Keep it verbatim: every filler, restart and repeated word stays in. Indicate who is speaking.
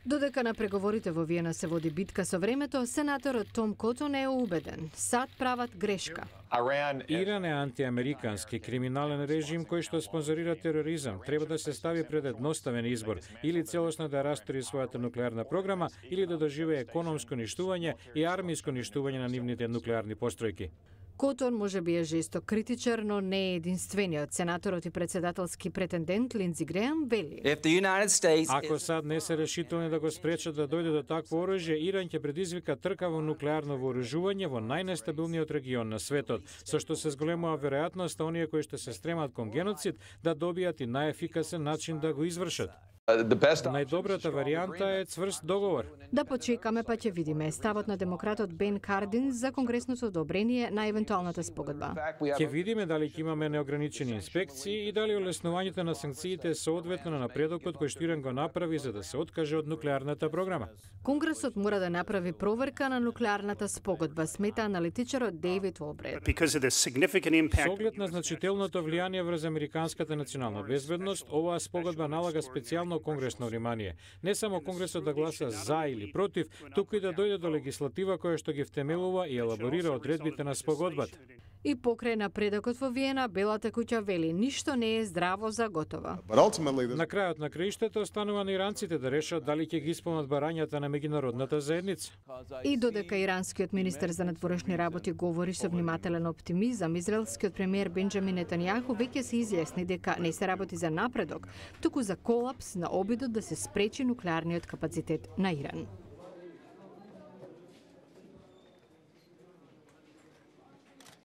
Speaker 1: Додека на преговорите во Виена се води битка со времето, сенаторот Том Котон е убеден. САД прават грешка.
Speaker 2: Иран е антиамерикански криминален режим кој што спонзорира тероризам. Треба да се стави пред едноставен избор, или целосно да растори својата нуклеарна програма, или да доживее економско ништување и армиско ништување на нивните нуклеарни постројки.
Speaker 1: Котон може би е жесток критичар, но не е единствениот. Сенаторот и председателски претендент Линдзи Греам вели:
Speaker 2: Ако САД не се решителни да го спречат да дојде до такво оружје, Иран ќе предизвика трка во нуклеарно вооружување во најнестабилниот регион на светот, со што се зголемува веројатноста оние кои што се стремат кон геноцид да добијат и најефикасен начин да го извршат. Најдобрата варијанта е цврст договор.
Speaker 1: Да почекаме па ќе видиме ставот на демократот Бен Кардин за конгресното одобрение на евентуалната спогодба.
Speaker 2: Ќе видиме дали ќе имаме неограничени инспекции и дали олеснувањето на санкциите соодветно на напредокот кој што Иран го направи за да се откаже од нуклеарната програма.
Speaker 1: Конгресот мора да направи проверка на нуклеарната спогодба, смета аналитичарот Дејвид Олбрет.
Speaker 2: Со оглед на значителното влијание врз американската национална безбедност, оваа спогодба налага специјално конгресно внимание. Не само Конгресот да гласа за или против, туку и да дојде до легислатива која што ги втемелува и елаборира одредбите на спогодбата.
Speaker 1: И покрај напредокот во Виена, Белата куќа вели ништо не е здраво за готово.
Speaker 2: На крајот на краиштата останува на иранците да решат дали ќе ги исполнат барањата на меѓународната заедница.
Speaker 1: И додека иранскиот министер за надворешни работи говори со внимателен оптимизам, израелскиот премиер Бенџамин Нетањаху веќе се изјасни дека не се работи за напредок, туку за колапс на обидот да се спречи нуклеарниот капацитет на Иран.